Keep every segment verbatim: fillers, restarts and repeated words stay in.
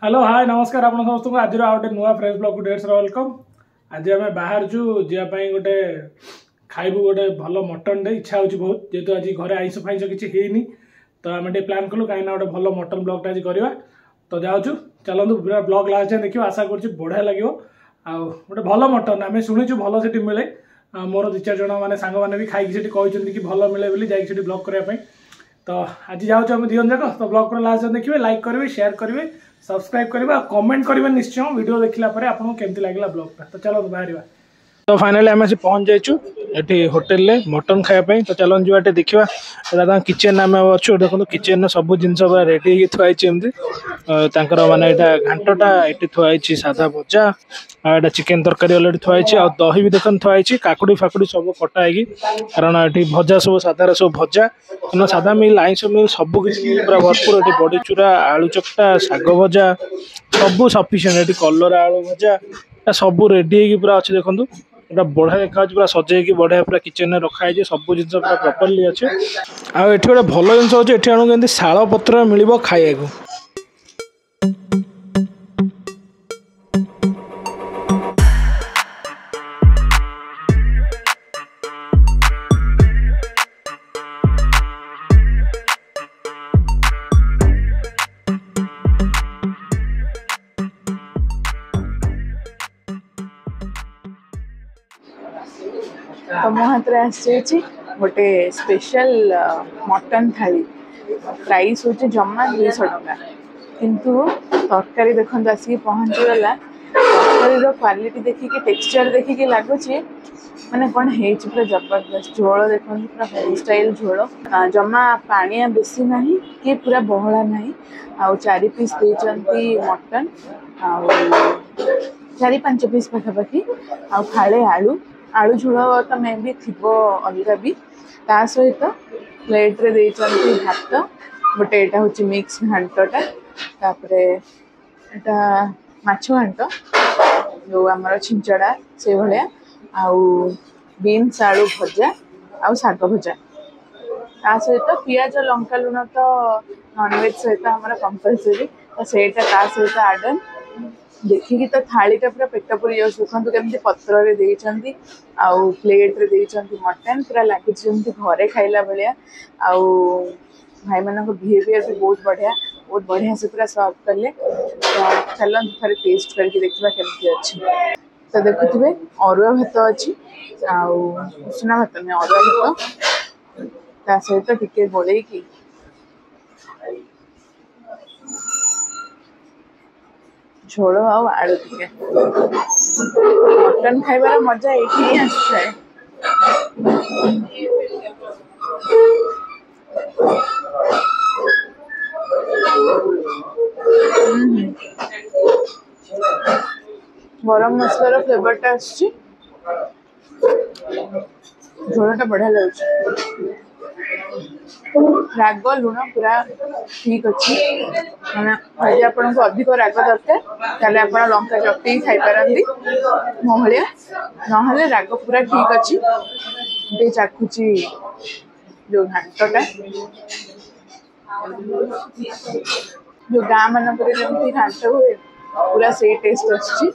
Hello hi ନମସ୍କାର ଆପଣ ସମସ୍ତଙ୍କୁ ଆଜିର ଆଉ ଗୋଟେ ନୂଆ ଫ୍ରେଶ୍ ବ୍ଲଗ୍କୁ ଢେର welcome ଆଜି ଆମେ ବାହାରୁଛୁ ଯିବା ପାଇଁ ଗୋଟେ ଖାଇବୁ ଗୋଟେ ଭଲ ମଟନ୍ଟେ ଇଚ୍ଛା ହେଉଛି ବହୁତ ଯେହେତୁ ଆଜି ଘରେ ଆଇଁଷ ଫାଇଁଷ କିଛି ହେଇନି ତ ଆମେ ଟିକେ ପ୍ଲାନ୍ କଲୁ କାହିଁକିନା ଗୋଟେ ଭଲ ମଟନ୍ ବ୍ଲଗ୍ଟା ଆଜି କରିବା ତ ଯାଉଛୁ ଚାଲନ୍ତୁ ପୁରା ବ୍ଲଗ୍ ଲାଷ୍ଟ ଯାଏଁ ଦେଖିବ ଆଶା କରୁଛି ବଢ଼ିଆ ଲାଗିବ ଆଉ ଗୋଟେ ଭଲ ମଟନ୍ ଆମେ ଶୁଣିଛୁ ଭଲ ସେଠି ମିଳେ ଆଉ ମୋର ଦୁଇ ଚାରି ଜଣ ମାନେ ସାଙ୍ଗମାନେ ବି ଖାଇକି ସେଠି କହିଛନ୍ତି କି ଭଲ ମିଳେ ବୋଲି ଯାଇକି ସେଠି ବ୍ଲଗ୍ କରିବା ପାଇଁ ତ ଆଜି ଯାଉଛୁ ଆମେ ଦୁଇ ଜଣ ଯାକ ତ ବ୍ଲଗ୍ ପୁରା ଲାଷ୍ଟ ଯାଏଁ ଦେଖିବେ ଲାଇକ୍ କରିବେ ସେୟାର କରିବେ ସବସ୍କ୍ରାଇବ୍ କରିବେ ଆଉ କମେଣ୍ଟ କରିବେ ନିଶ୍ଚୟ ଭିଡ଼ିଓ ଦେଖିଲା ପରେ ଆପଣଙ୍କୁ କେମିତି ଲାଗିଲା ବ୍ଲଗ୍ଟା ତ ଚାଲନ୍ତୁ ବାହାରିବା ତ ଫାଇନାଲି ଆମେ ଆସି ପହଞ୍ଚି ଯାଇଛୁ ଏଠି ହୋଟେଲରେ ମଟନ୍ ଖାଇବା ପାଇଁ ତ ଚାଲନ୍ତୁ ଯିବା ଟିକେ ଦେଖିବା ଏଇଟା ତାଙ୍କ କିଚେନ୍ ଆମେ ଅଛୁ ଦେଖନ୍ତୁ କିଚେନ୍ରେ ସବୁ ଜିନିଷ ପୁରା ରେଡ଼ି ହେଇକି ଥୁଆ ହେଇଛି ଏମିତି ତାଙ୍କର ମାନେ ଏଇଟା ଘାଣ୍ଟଟା ଏଠି ଥୁଆ ହେଇଛି ସାଧା ଭଜା ଆଉ ଏଇଟା ଚିକେନ୍ ତରକାରୀ ଅଲରେଡ଼ି ଥୁଆ ହେଇଛି ଆଉ ଦହି ବି ଦେଖନ୍ତୁ ଥୁଆ ହେଇଛି କାକୁଡ଼ି ଫାକୁଡ଼ି ସବୁ କଟା ହେଇକି କାରଣ ଏଠି ଭଜା ସବୁ ସାଧାରେ ସବୁ ଭଜା କାରଣ ସାଧା ମିଲ୍ ଆଇଁଷ ମିଲ୍ ସବୁ କିଛି ମିଲ୍ ପୁରା ଭରପୁର ଏଠି ବଡ଼ି ଚୁରା ଆଳୁ ଚକଟା ଶାଗ ଭଜା ସବୁ ସଫିସିଏଣ୍ଟ ଏଠି କଲରା ଆଳୁ ଭଜା ସବୁ ରେଡ଼ି ହେଇକି ପୁରା ଅଛି ଦେଖନ୍ତୁ ଏଟା ବଢ଼ିଆ ଦେଖାଯାଉଛି ପୁରା ସଜେଇକି ବଢ଼ିଆ ପୁରା କିଚେନରେ ରଖା ହେଇଛି ସବୁ ଜିନିଷ ପୁରା ପ୍ରପରଲି ଅଛି ଆଉ ଏଠି ଗୋଟେ ଭଲ ଜିନିଷ ହେଉଛି ଏଠି ଆପଣଙ୍କୁ ଏମିତି ଶାଳ ପତ୍ର ମିଳିବ ଖାଇବାକୁ ତ ମୋ ହାତରେ ଆସିଯାଇଛି ଗୋଟେ ସ୍ପେଶାଲ ମଟନ୍ ଥାଳି ପ୍ରାଇସ୍ ହେଉଛି ଜମା ଦୁଇଶହ ଟଙ୍କା କିନ୍ତୁ ତରକାରୀ ଦେଖନ୍ତୁ ଆସିକି ପହଞ୍ଚିଗଲା ତରକାରୀର କ୍ୱାଲିଟି ଦେଖିକି ଟେକ୍ସଚର୍ ଦେଖିକି ଲାଗୁଛି ମାନେ କ'ଣ ହେଇଛି ପୁରା ଜବରଦସ୍ତ ଝୋଳ ଦେଖନ୍ତୁ ପୁରା ହୋମ୍ ଷ୍ଟାଇଲ୍ ଝୋଳ ଜମା ପାଣିଆ ବେଶୀ ନାହିଁ କି ପୁରା ବହଳା ନାହିଁ ଆଉ ଚାରି ପିସ୍ ଦେଇଛନ୍ତି ମଟନ୍ ଆଉ ଚାରି ପାଞ୍ଚ ପିସ୍ ପାଖାପାଖି ଆଉ ଫାଳେ ଆଳୁ ଆଳୁ ଝୋଳ ତ ମେ ବି ଥିବ ଅଲଗା ବି ତା ସହିତ ପ୍ଲେଟ୍ରେ ଦେଇଛନ୍ତି ଭାତ ଗୋଟେ ଏଇଟା ହେଉଛି ମିକ୍ସ ଘାଣ୍ଟଟା ତାପରେ ଏଇଟା ମାଛ ଘାଣ୍ଟ ଯେଉଁ ଆମର ଛିଞ୍ଚଡ଼ା ସେଇଭଳିଆ ଆଉ ବିନ୍ସ ଆଳୁ ଭଜା ଆଉ ଶାଗ ଭଜା ତା ସହିତ ପିଆଜ ଲଙ୍କା ଲୁଣ ତ ନନଭେଜ୍ ସହିତ ଆମର କମ୍ପଲସରି ତ ସେଇଟା ତା ସହିତ ଆଡ଼ନ୍ ଦେଖିକି ତ ଥାଳିଟା ପୁରା ପେଟ ପୁରି ଯାଉଛି ଦେଖନ୍ତୁ କେମିତି ପତ୍ରରେ ଦେଇଛନ୍ତି ଆଉ ପ୍ଲେଟ୍ରେ ଦେଇଛନ୍ତି ମଟନ୍ ପୁରା ଲାଗୁଛି ଯେମିତି ଘରେ ଖାଇଲା ଭଳିଆ ଆଉ ଭାଇମାନଙ୍କ ବିହେଭିଅର୍ ବି ବହୁତ ବଢ଼ିଆ ବହୁତ ବଢ଼ିଆ ସେ ପୁରା ସର୍ଭ କଲେ ତ ଚାଲନ୍ତୁ ଥରେ ଟେଷ୍ଟ କରିକି ଦେଖିବା କେମିତି ଅଛି ତ ଦେଖୁଥିବେ ଅରୁଆ ଭାତ ଅଛି ଆଉ ଉଷୁନା ଭାତ ନୁହେଁ ଅରୁଆ ଭାତ ତା ସହିତ ଟିକେ ଗୋଳେଇକି ଝୋଳ ଆଉ ଆଳୁ ଟିକେ ମଟନ୍ ଖାଇବାର ମଜା ଏଇଠି ହିଁ ଆସିଥାଏ ଗରମ ମସଲାର ଫ୍ଲେଭରଟା ଆସୁଛି ଝୋଳଟା ବଢ଼ିଆ ଲାଗୁଛି ରାଗ ଲୁଣ ପୁରା ଠିକ୍ ଅଛି ମାନେ ଯଦି ଆପଣଙ୍କୁ ଅଧିକ ରାଗ ଦରକାର ତାହେଲେ ଆପଣ ଲଙ୍କା ଚକଟିକି ଖାଇପାରନ୍ତି ମୋ ଭଳିଆ ନହେଲେ ରାଗ ପୁରା ଠିକ୍ ଅଛି ଟିକେ ଚାଖୁଛି ଯୋଉ ଘାଣ୍ଟଟା ଯୋଉ ଗାଁ ମାନଙ୍କରେ ଯେମିତି ଘାଣ୍ଟ ହୁଏ ପୁରା ସେଇ ଟେଷ୍ଟ ଆସୁଛି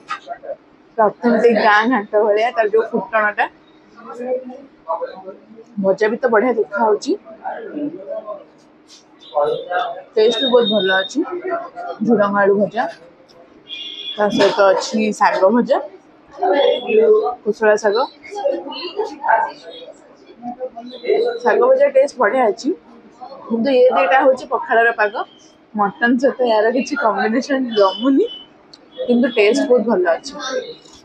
ଅଥେଣ୍ଟିକ୍ ଗାଁ ଘାଣ୍ଟ ଭଳିଆ ତାର ଯୋଉ ଫୁଟଣଟା ଭଜା ବି ତ ବଢ଼ିଆ ଦେଖା ହଉଛି ଟେଷ୍ଟ ବି ବହୁତ ଭଲ ଅଛି ଝୁଡ଼ଙ୍ଗ ଆଳୁ ଭଜା ତା ସହିତ ଅଛି ଶାଗ ଭଜା କୋଶଳା ଶାଗ ଶାଗ ଭଜା ଟେଷ୍ଟ ବଢ଼ିଆ ଅଛି କିନ୍ତୁ ଏ ଦୁଇଟା ହେଉଛି ପଖାଳର ପାଗ ମଟନ୍ ସହିତ ଏହାର କିଛି କମ୍ବିନେସନ୍ ଜମୁନି କିନ୍ତୁ ଟେଷ୍ଟ ବହୁତ ଭଲ ଅଛି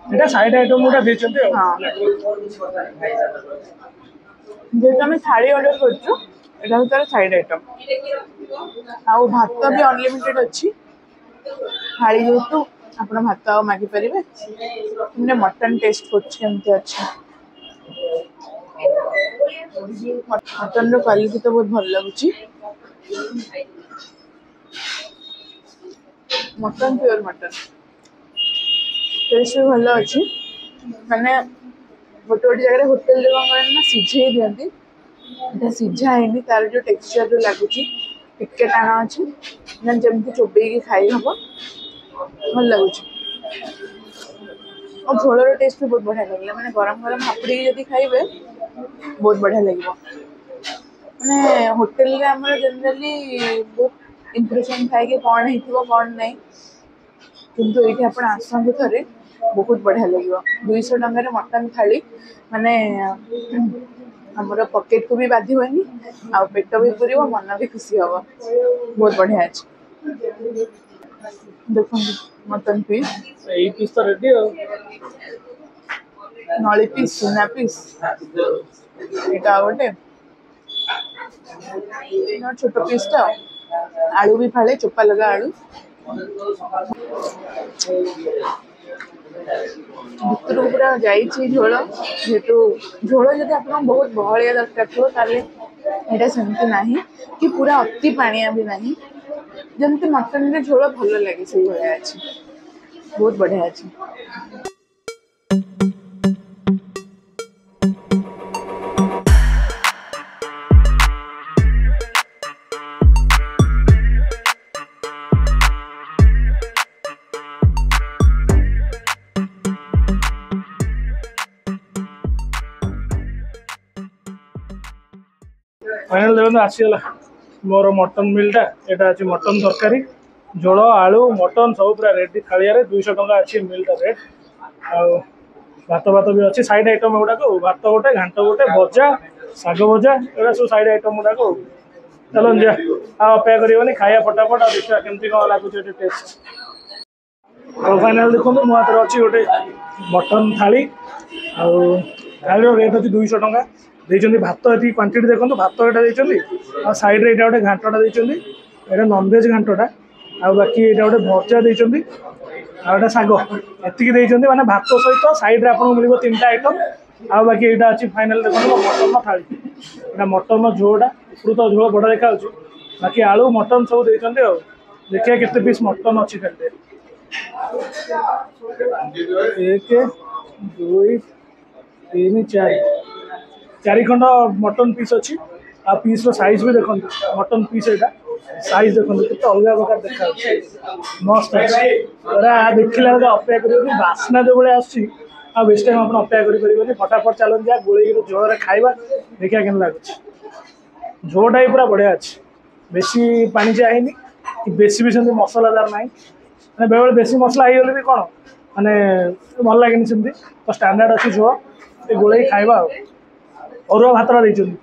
ଏଇଟା ସାଇଡ୍ ଆଇଟମ୍ ଗୋଟେ ଦେଇଛନ୍ତି ଆଉ ହଁ ଯେହେତୁ ଆମେ ଥାଳି ଅର୍ଡ଼ର କରୁଛୁ ଏଇଟା ହେଉଛି ତାର ସାଇଡ୍ ଆଇଟମ୍ ଆଉ ଭାତ ବି ଅନଲିମିଟେଡ୍ ଅଛି ଥାଳି ଯେହେତୁ ଆପଣ ଭାତ ଆଉ ମାଗିପାରିବେ ମୁଁ ମଟନ୍ ଟେଷ୍ଟ କରୁଛି କେମିତି ଅଛି ମଟନ୍ର କ୍ୱାଲିଟି ତ ବହୁତ ଭଲ ଲାଗୁଛି ମଟନ୍ ପିଓର ମଟନ୍ ଟେଷ୍ଟ ବି ଭଲ ଅଛି ମାନେ ଗୋଟେ ଗୋଟେ ଜାଗାରେ ହୋଟେଲରେ କ'ଣ କରନ୍ତି ନା ସିଝେଇ ଦିଅନ୍ତି ଏଇଟା ସିଝା ହେଇନି ତାର ଯୋଉ ଟେକ୍ସଚର ଲାଗୁଛି ଟିକେ ଟାଣ ଅଛି ମାନେ ଯେମିତି ଚୋବେଇକି ଖାଇ ହବ ଭଲ ଲାଗୁଛି। ଆଉ ଝୋଳର ଟେଷ୍ଟ ବି ବହୁତ ବଢ଼ିଆ ଲାଗିଲା। ମାନେ ଗରମ ଗରମ ହାପୁଡ଼ିକି ଯଦି ଖାଇବେ, ବହୁତ ବଢ଼ିଆ ଲାଗିବ। ମାନେ ହୋଟେଲରେ ଆମର ଜେନେରାଲି ବହୁତ ଇମ୍ପ୍ରେସନ୍ ଥାଏ କି କ'ଣ ହେଇଥିବ, କ'ଣ ନାହିଁ। କିନ୍ତୁ ଏଇଠି ଆପଣ ଆସନ୍ତୁ ଥରେ, ବହୁତ ବଢ଼ିଆ ଲାଗିବ। ଦୁଇଶହ ଟଙ୍କାରେ ମଟନ୍ ଥାଳି, ମାନେ ଆମର ପକେଟକୁ ବି ବାଧିବନି, ଆଉ ପେଟ ବି ପୁରିବ, ମନ ବି ଖୁସି ହବ। ବହୁତ ବଢ଼ିଆ ଅଛି। ଦେଖନ୍ତୁ ମଟନ୍ ପିସ୍। ଏଇ ପିସ୍ ତ ରେଡି ଆଉ। ନଳି ପିସ୍, ସୁନା ପିସ୍, ଏଇଟା ଆଉ ଗୋଟେ ଏଇଟା ଛୋଟ ପିସ୍ଟା। ଆଳୁ ବି ଫାଳେ, ଚୋପା ଲଗା ଆଳୁ। ଭିତରକୁ ପୁରା ଯାଇଛି ଝୋଳ। ଯେହେତୁ ଝୋଳ ଯଦି ଆପଣଙ୍କୁ ବହୁତ ବହଳିଆ ଦରକାର ଥିବ, ତାହେଲେ ଏଇଟା ସେମିତି ନାହିଁ କି ପୁରା ଅତି ପାଣିଆ ବି ନାହିଁ। ଯେମିତି ମଟନରେ ଝୋଳ ଭଲ ଲାଗେ, ସେଇଭଳିଆ ଅଛି। ବହୁତ ବଢ଼ିଆ ଅଛି। ଫାଇନାଲ ଦେଖନ୍ତୁ, ଆସିଗଲା ମୋର ମଟନ୍ ମିଲ୍ଟା। ଏଇଟା ଅଛି ମଟନ୍ ତରକାରୀ, ଝୋଳ, ଆଳୁ, ମଟନ୍ ସବୁ ପୁରା ରେଡି ଥାଳିଆରେ। ଦୁଇଶହ ଟଙ୍କା ଅଛି ମିଲ୍ଟା ରେଟ୍। ଆଉ ଭାତ ଭାତ ବି ଅଛି, ସାଇଡ୍ ଆଇଟମ୍ ଏଗୁଡ଼ାକ। ଭାତ ଗୋଟେ, ଘାଣ୍ଟ ଗୋଟେ, ଭଜା, ଶାଗ ଭଜା, ଏଗୁଡ଼ା ସବୁ ସାଇଡ୍ ଆଇଟମ୍ ଗୁଡ଼ାକ। ଚାଲନ୍ତୁ ଯିବା, ଆଉ ଅପେକ୍ଷା କରିବନି, ଖାଇବା ଫଟାଫଟ ଆଉ ଦେଖିବା କେମିତି କ'ଣ ଲାଗୁଛି ଏଠି ଟେଷ୍ଟ। ଆଉ ଫାଇନାଲ ଦେଖନ୍ତୁ, ମୋ ହାତରେ ଅଛି ଗୋଟେ ମଟନ୍ ଥାଳି। ଆଉ ଥାଳିର ରେଟ୍ ଅଛି ଦୁଇଶହ ଟଙ୍କା। ଦେଇଛନ୍ତି ଭାତ ଏତିକି କ୍ୱାଣ୍ଟିଟି, ଦେଖନ୍ତୁ ଭାତ ଏଇଟା ଦେଇଛନ୍ତି। ଆଉ ସାଇଡ଼୍ରେ ଏଇଟା ଗୋଟେ ଘାଣ୍ଟଟା ଦେଇଛନ୍ତି, ଏଇଟା ନନଭେଜ୍ ଘାଣ୍ଟଟା। ଆଉ ବାକି ଏଇଟା ଗୋଟେ ଭଜା ଦେଇଛନ୍ତି, ଆଉ ଏଇଟା ଶାଗ, ଏତିକି ଦେଇଛନ୍ତି। ମାନେ ଭାତ ସହିତ ସାଇଡ଼୍ରେ ଆପଣଙ୍କୁ ମିଳିବ ତିନିଟା ଆଇଟମ୍। ଆଉ ବାକି ଏଇଟା ଅଛି ଫାଇନାଲ୍ ଦେଖନ୍ତୁ ମୋ ମଟନ୍ର ଥାଳି। ଏଇଟା ମଟନ୍ର ଝୋଳଟା, ଉପରୁ ତ ଝୋଳ ବଡ଼ ଦେଖାଯାଉଛି, ବାକି ଆଳୁ ମଟନ୍ ସବୁ ଦେଇଛନ୍ତି। ଆଉ ଦେଖିବା କେତେ ପିସ୍ ମଟନ୍ ଅଛି ଥାଳିରେ। ଏକ, ଦୁଇ, ତିନି, ଚାରି, ଚାରି ଖଣ୍ଡ ମଟନ୍ ପିସ୍ ଅଛି। ଆଉ ପିସ୍ର ସାଇଜ୍ ବି ଦେଖନ୍ତୁ, ମଟନ୍ ପିସ୍ ଏଇଟା ସାଇଜ୍ ଦେଖନ୍ତୁ କେତେ ଅଲଗା ପ୍ରକାର ଦେଖାଯାଉଛି, ମସ୍ତ ଅଛି ପୁରା। ଦେଖିଲା ବେଳକୁ ଅପେକ୍ଷା କରିବେନି, ବାସ୍ନା ଯେଉଁ ଭଳିଆ ଆସୁଛି, ଆଉ ବେଶୀ ଟାଇମ୍ ଆପଣ ଅପେକ୍ଷା କରିପାରିବେନି। ଫଟାଫଟ ଚାଲନ୍ତୁ ଯିବା, ଗୋଳେଇକି ଝୋଳରେ ଖାଇବା, ଦେଖିବା କେମିତି ଲାଗୁଛି। ଝୋଳଟା ବି ପୁରା ବଢ଼ିଆ ଅଛି, ବେଶୀ ପାଣିଚିଆ ହେଇନି କି ବେଶୀ ବି ସେମିତି ମସଲାଦାର ନାହିଁ। ମାନେ ବେଳେବେଳେ ବେଶୀ ମସଲା ହେଇଗଲେ ବି କ'ଣ ମାନେ ଭଲ ଲାଗେନି ସେମିତି। ତ ଷ୍ଟାଣ୍ଡାର୍ଡ଼ ଅଛି ଝୋଳ, ଟିକେ ଗୋଳେଇକି ଖାଇବା। ଆଉ ଅରୁଆ ଭାତଟା ଦେଇଛନ୍ତି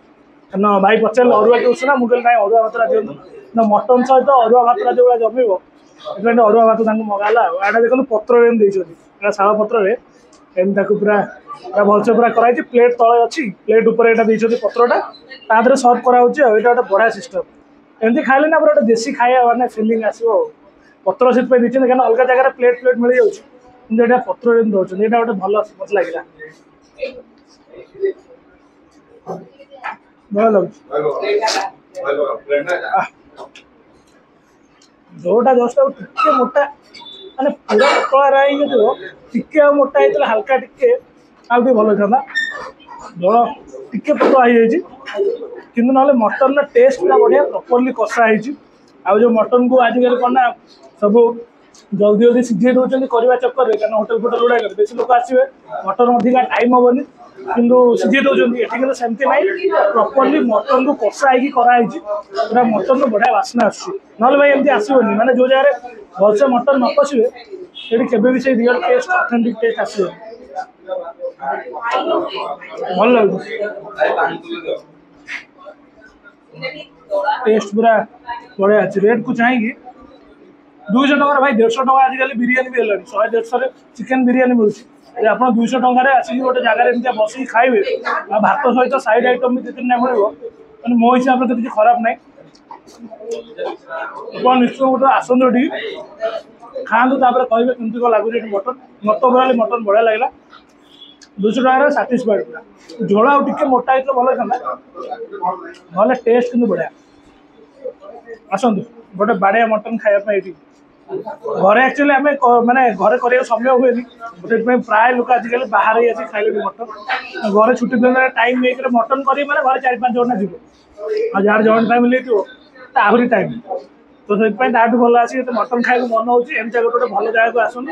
ନା, ଭାଇ ପଚାରିଲେ ଅରୁଆ କି ଉଷୁନା, ମୁଁ କହିଲି ନାଇଁ, ଅରୁଆ ଭାତଟା ଦିଅନ୍ତୁ ନା। ମଟନ୍ ସହିତ ଅରୁଆ ଭାତଟା ଯେଉଁଭଳିଆ ଜମିବ, ସେଥିପାଇଁ ଟିକେ ଅରୁଆ ଭାତ ତାଙ୍କୁ ମଗା ହେଲା। ଆଉ ଏଇଟା ଦେଖନ୍ତୁ, ପତ୍ରରେ ଏମିତି ଦେଇଛନ୍ତି, ଏଇଟା ଶାଳ ପତ୍ରରେ ଏମିତି ତାକୁ ପୁରା ପୁରା ଭଲସେ ପୁରା କରାହେଇଛି। ପ୍ଲେଟ୍ ତଳେ ଅଛି, ପ୍ଲେଟ୍ ଉପରେ ଏଇଟା ଦେଇଛନ୍ତି ପତ୍ରଟା, ତା ଦେହରେ ସର୍ଭ କରାହେଉଛି। ଆଉ ଏଇଟା ଗୋଟେ ବଢ଼ିଆ ସିଷ୍ଟମ୍। ଏମିତି ଖାଇଲେ ନା ପୁରା ଗୋଟେ ଦେଶୀ ଖାଇବା ମାନେ ଫିଲିଂ ଆସିବ। ଆଉ ପତ୍ର ସେଥିପାଇଁ ଦେଇଛନ୍ତି, କାହିଁକିନା ଅଲଗା ଜାଗାରେ ପ୍ଲେଟ୍ ଫ୍ଲେଟ୍ ମିଳିଯାଉଛି, କିନ୍ତୁ ଏଇଟା ପତ୍ରରେ ଏମିତି ଦେଉଛନ୍ତି। ଏଇଟା ଗୋଟେ ଭଲ ମତେ ଲାଗିଲା, ଭଲ ଲାଗୁଛି। ଆଃ, ଝୋଳଟା ଜଷ୍ଟ ଆଉ ଟିକେ ମୋଟା, ମାନେ ପୁରା ପତଳା ହେଇନଥିବ, ଟିକେ ଆଉ ମୋଟା ହେଇଥିଲା ହାଲକା ଟିକେ, ଆଉ ଟିକେ ଭଲ ହେଇଥାନ୍ତା। ଝୋଳ ଟିକେ ପତଳା ହେଇଯାଇଛି କିନ୍ତୁ, ନହେଲେ ମଟନ୍ର ଟେଷ୍ଟ ପୁରା ବଢ଼ିଆ, ପ୍ରପରଲି କଷା ହେଇଛି। ଆଉ ଯେଉଁ ମଟନ୍କୁ ଆଜିକାଲି କ'ଣ ନା ସବୁ ଜଲ୍ଦି ଜଲ୍ଦି ସିଝେଇ ଦେଉଛନ୍ତି କରିବା ଚକ୍କରରେ, କାରଣ ହୋଟେଲ ଫୋଟେଲ ଗୁଡ଼ାକରେ ବେଶୀ ଲୋକ ଆସିବେ, ମଟନ୍ ଅଧିକା ଟାଇମ୍ ହେବନି, କିନ୍ତୁ ସିଝେଇ ଦେଉଛନ୍ତି। ଏଠି କିନ୍ତୁ ସେମିତି ନାହିଁ, ପ୍ରପରଲି ମଟନ୍କୁ କଷା ହେଇକି କରାହେଇଛି। ପୁରା ମଟନ୍ରୁ ବଢ଼ିଆ ବାସ୍ନା ଆସୁଛି, ନହେଲେ ଭାଇ ଏମିତି ଆସିବନି। ମାନେ ଯେଉଁ ଜାଗାରେ ଭଲସେ ମଟନ୍ ନ କଷିବେ, ସେଠି କେବେ ବି ସେଇ ରିଅଲ୍ ଟେଷ୍ଟ, ଅଥେଣ୍ଟିକ୍ ଟେଷ୍ଟ ଆସିବନି। ଭଲ ଲାଗୁଛି ଟେଷ୍ଟ, ପୁରା ବଢ଼ିଆ ଅଛି। ରେଟ୍କୁ ଚାହିଁକି ଦୁଇଶହ ଟଙ୍କାରେ ଭାଇ, ଦେଢ଼ଶହ ଟଙ୍କା ଆଜିକାଲି ବିରିୟାନୀ ବି ହେଲାଣି, ଶହେ ଦେଢ଼ଶହରେ ଚିକେନ୍ ବିରିୟାନୀ ମିଳୁଛି। ଯଦି ଆପଣ ଦୁଇଶହ ଟଙ୍କାରେ ଆସିକି ଗୋଟେ ଜାଗାରେ ଏମିତିଆ ବସିକି ଖାଇବେ, ଆଉ ଭାତ ସହିତ ସାଇଡ୍ ଆଇଟମ୍ ବି ଦୁଇ ତିନିଟା ମିଳିବ, ମାନେ ମୋ ହିସାବରେ ତ କିଛି ଖରାପ ନାହିଁ। ଆପଣ ନିଶ୍ଚୟ ଗୋଟେ ଆସନ୍ତୁ ଏଠିକି, ଖାଆନ୍ତୁ, ତାପରେ କହିବେ କେମିତି କ'ଣ ଲାଗୁଛି ଏଠି ମଟନ୍। ମତେ ଓଭରାଲି ମଟନ୍ ବଢ଼ିଆ ଲାଗିଲା, ଦୁଇଶହ ଟଙ୍କାରେ ସାଟିସ୍ଫାଏଡ୍ ପୁରା। ଝୋଳ ଆଉ ଟିକେ ମୋଟା ହେଇଥିଲେ ଭଲ ହେଇଥାନ୍ତା, ନହେଲେ ଟେଷ୍ଟ କିନ୍ତୁ ବଢ଼ିଆ। ଆସନ୍ତୁ ଗୋଟେ ବାଡ଼ିଆ ମଟନ୍ ଖାଇବା ପାଇଁ ଏଠି। ଘରେ ଆକ୍ଚୁଆଲି ଆମେ କ- ମାନେ ଘରେ କରିବାକୁ ସମୟ ହୁଏନି, ସେଥିପାଇଁ ପ୍ରାୟ ଲୋକ ଆଜିକାଲି ବାହାରେ ହିଁ ଆସି ଖାଇଲେଣି ମଟନ୍। ଘରେ ଛୁଟି ଦିନରେ ଟାଇମ୍ ନେଇକରି ମଟନ୍ କରିବି ମାନେ ଘରେ ଚାରି ପାଞ୍ଚ ଘଣ୍ଟା ଯିବ, ଆଉ ଯାହାର ଜଏଣ୍ଟ ଫ୍ୟାମିଲି ହେଇଥିବ ତ ଆହୁରି ଟାଇମ୍। ତ ସେଥିପାଇଁ ତାଠୁ ଭଲ ଆସିକି ଯଦି ମଟନ୍ ଖାଇବାକୁ ମନ ହେଉଛି, ଏମିତିଆ ଗୋଟେ ଗୋଟେ ଭଲ ଜାଗାକୁ ଆସନ୍ତୁ,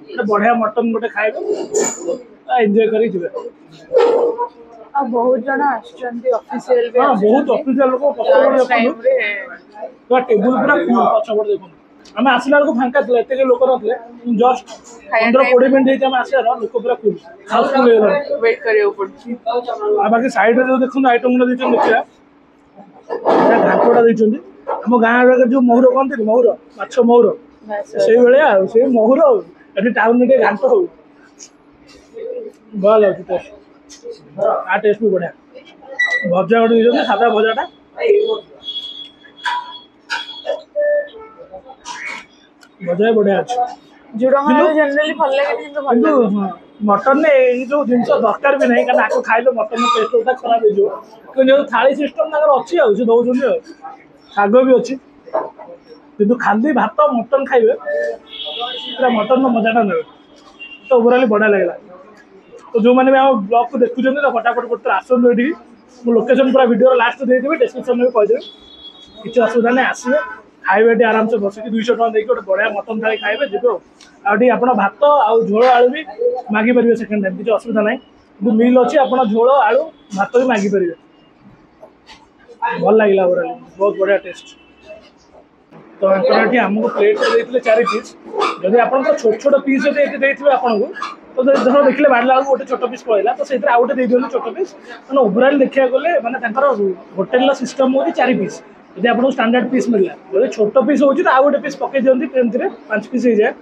ଗୋଟେ ବଢ଼ିଆ ମଟନ୍ ଗୋଟେ ଖାଇବେ, ଏନ୍ଜୟ କରିକି ଯିବେ। ଆଉ ବହୁତ ଜଣ ଆସୁଛନ୍ତି, ଅଫିସିଆଲ ବି। ହଁ, ବହୁତ ଅଫିସିଆଲ ଲୋକ। ପଛପଟେ ଦେଖନ୍ତୁ। ଟାଇମରେ ପୁରା ଟେବୁଲ ପୁରା ଫୁଲ୍। ପଛପଟେ ଦେଖନ୍ତୁ, ଆମେ ଆସିଲା ବେଳକୁ ଫାଙ୍କା ଥିଲା, ଏତେ କେହି ଲୋକ ନଥିଲେ। ଜଷ୍ଟ ପନ୍ଦର କୋଡ଼ିଏ ମିନିଟ୍ ହେଇଛି ଆମେ ଆସିବାର, ଲୋକ ପୁରା ଫୁଲ୍, ହାଉସଫୁଲ୍ ହେଇଗଲାଣି। ୱେଟ୍ କରିବାକୁ ପଡୁଛି। ଆଉ ବାକି ସାଇଡରେ ଯୋଉ ଦେଖନ୍ତୁ ଆଇଟମ୍ ଗୁଡ଼ା ଦେଇଛନ୍ତି, ଦେଖିବା, ଏଇଟା ଘାଣ୍ଟଟା ଦେଇଛନ୍ତି। ଆମ ଗାଁ ଆଡେ ଯୋଉ ମହୁର କହନ୍ତିନି, ମହୁର ମାଛ, ମହୁର ସେଇଭଳିଆ ଆଉ ସେଇ ମହୁର। ଆଉ ଏଠି ଟାଉନରେ ଟିକେ ଘାଣ୍ଟ ହଉ ଭଲ ଲାଗୁଛି ଟେଷ୍ଟ। ଆ ଟେଷ୍ଟ ବି ବଢିଆ। ଭଜା ଗୋଟେ ଦେଇଛନ୍ତି, ସାଦା ଭଜାଟା। ଭଜା ବି ବଢିଆ ଅଛି। ଝୁଡଙ୍ଗ ଆଳୁ ଜେନେରାଲି ଭଲ ଲାଗେନି, କିନ୍ତୁ ଭଲ କିନ୍ତୁ ଲାଗୁଛି। ମଟନରେ ଏଇ ଯୋଉ ଜିନିଷ ଦରକାର ବି ନାହିଁ, କାରଣ ଆକୁ ଖାଇଲେ ମଟନ ଟେଷ୍ଟ ଖରାପ ହେଇଯିବ। କିନ୍ତୁ ଯେହେତୁ ଥାଳି ସିଷ୍ଟମ ତାଙ୍କର ଅଛି ଆଉ ସେ ଦଉଛନ୍ତି, ଆଉ ଶାଗ ବି ଅଛି। କିନ୍ତୁ ଖାଲି ଭାତ ମଟନ ଖାଇବେ, ପୁରା ମଟନର ମଜାଟା ନେବେ। ତ ଓଭରାଲି ବଢ଼ିଆ ଲାଗିଲା। ତ ଯେଉଁମାନେ ବି ଆମ ବ୍ଲଗ୍କୁ ଦେଖୁଛନ୍ତି, ତ ଫଟାଫଟ ଗୋଟେ ଥର ଆସନ୍ତୁ ଏଠିକି। ମୁଁ ଲୋକେସନ୍ ପୁରା ଭିଡ଼ିଓର ଲାଷ୍ଟ ଦେଇଦେବି, ଡେସ୍କ୍ରିପସନ୍ରେ ବି କହିଦେବି। କିଛି ଅସୁବିଧା ନାହିଁ, ଆସିବେ, ଖାଇବେ ଏଠି ଆରାମସେ ବସିକି। ଦୁଇଶହ ଟଙ୍କା ଦେଇକି ଗୋଟେ ବଢ଼ିଆ ମଟନ ଥାଳି ଖାଇବେ, ଯିବେ। ଆଉ ଆଉ ଏଠି ଆପଣ ଭାତ ଆଉ ଝୋଳ ଆଳୁ ବି ମାଗିପାରିବେ ସେକେଣ୍ଡ ଟାଇମ୍, କିଛି ଅସୁବିଧା ନାହିଁ। କିନ୍ତୁ ମିଲ୍ ଅଛି, ଆପଣ ଝୋଳ ଆଳୁ ଭାତ ବି ମାଗିପାରିବେ। ଭଲ ଲାଗିଲା, ଓଭରାଲି ବହୁତ ବଢ଼ିଆ ଟେଷ୍ଟ। ତ ଆଙ୍କର ଏଠି ଆମକୁ ପ୍ଲେଟ୍ରେ ଦେଇଥିଲେ ଚାରି ପିସ୍। ଯଦି ଆପଣଙ୍କର ଛୋଟ ଛୋଟ ପିସ୍ ଯଦି ଏଠି ଦେଇଥିବେ ଆପଣଙ୍କୁ, ତ ଯଦି ଧର ଦେଖିଲେ ବାଢ଼ିଲା ବେଳକୁ ଗୋଟେ ଛୋଟ ପିସ୍ ପଳେଇଲା, ତ ସେଇଥିରେ ଆଉ ଗୋଟେ ଦେଇଦିଅନ୍ତୁ ଛୋଟ ପିସ୍। ମାନେ ଓଭରାଲି ଦେଖିବାକୁ ଗଲେ ମାନେ ତାଙ୍କର ହୋଟେଲର ସିଷ୍ଟମ୍ ହେଉଛି ଚାରି ପିସ୍। ଯଦି ଆପଣଙ୍କୁ ଷ୍ଟାଣ୍ଡାର୍ଡ ପିସ୍ ମିଳିଲା, ଯଦି ଛୋଟ ପିସ୍ ହେଉଛି ତ ଆଉ ଗୋଟେ ପିସ୍ ପକେଇ ଦିଅନ୍ତି, ଏମିତିରେ ପାଞ୍ଚ ପିସ୍ ହେଇଯାଏ।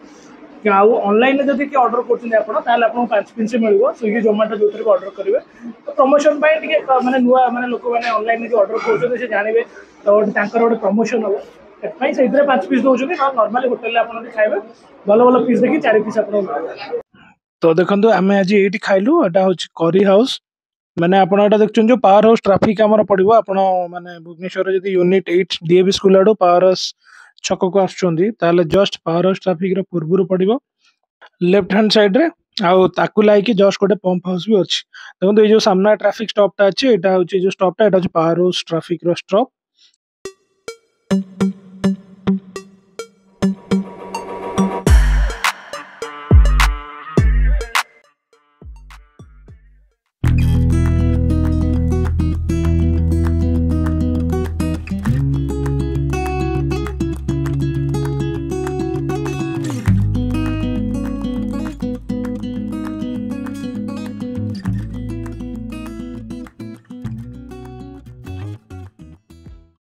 ଆଉ ଅନଲାଇନରେ ଯଦି କିଏ ଅର୍ଡ଼ର କରୁଛନ୍ତି ଆପଣ, ତାହେଲେ ଆପଣଙ୍କୁ ପାଞ୍ଚ ପିସ୍ ମିଳିବ। ସ୍ୱିଗି, ଜୋମାଟୋ ଯେଉଁଥିରେ ବି ଅର୍ଡ଼ର କରିବେ। ତ ପ୍ରମୋସନ୍ ପାଇଁ ଟିକେ ମାନେ ନୂଆ ମାନେ ଲୋକମାନେ ଅନଲାଇନରେ ଯେଉଁ ଅର୍ଡ଼ର କରୁଛନ୍ତି ସେ ଜାଣିବେ, ତ ଗୋଟେ ତାଙ୍କର ଗୋଟେ ପ୍ରମୋସନ୍ ହେବ, ସେଥିପାଇଁ ସେଇଥିରେ ପାଞ୍ଚ ପିସ୍ ଦେଉଛନ୍ତି। ନହେଲେ ନର୍ମାଲି ହୋଟେଲରେ ଆପଣ ଯଦି ଖାଇବେ, ଭଲ ଭଲ ପିସ୍ ଦେଖି ଚାରି ପିସ୍ ଆପଣଙ୍କୁ ମିଳିବ। ତ ଦେଖନ୍ତୁ, ଆମେ ଆଜି ଏଇଠି ଖାଇଲୁ। ଏଟା ହେଉଛି କରି ହାଉସ୍। ମାନେ ଆପଣ ଏଟା ଦେଖୁଛନ୍ତି ଯୋଉ ପାୱାର ହାଉସ୍ ଟ୍ରାଫିକ୍ ଆମର ପଡ଼ିବ, ଆପଣ ମାନେ ଭୁବନେଶ୍ୱରରେ ଯଦି ୟୁନିଟ୍ ଏଇଟ୍ ଡିଏଭି ସ୍କୁଲ ଆଡୁ ପାୱାର ହାଉସ୍ ଛକକୁ ଆସୁଛନ୍ତି, ତାହେଲେ ଜଷ୍ଟ ପାୱାର ହାଉସ୍ ଟ୍ରାଫିକ୍ର ପୂର୍ବରୁ ପଡ଼ିବ ଲେଫ୍ଟ ହ୍ୟାଣ୍ଡ ସାଇଡ୍ରେ। ଆଉ ତାକୁ ଲାଗିକି ଜଷ୍ଟ ଗୋଟେ ପମ୍ପ ହାଉସ୍ ବି ଅଛି। ଦେଖନ୍ତୁ, ଏଇ ଯୋଉ ସାମ୍ନା ଟ୍ରାଫିକ୍ ଷ୍ଟପ୍ଟା ଅଛି, ଏଇଟା ହେଉଛି ଯୋଉ ଷ୍ଟପ୍ଟା, ଏଇଟା ହେଉଛି ପାୱାର ହାଉସ୍ ଟ୍ରାଫିକ୍ର ଷ୍ଟପ୍।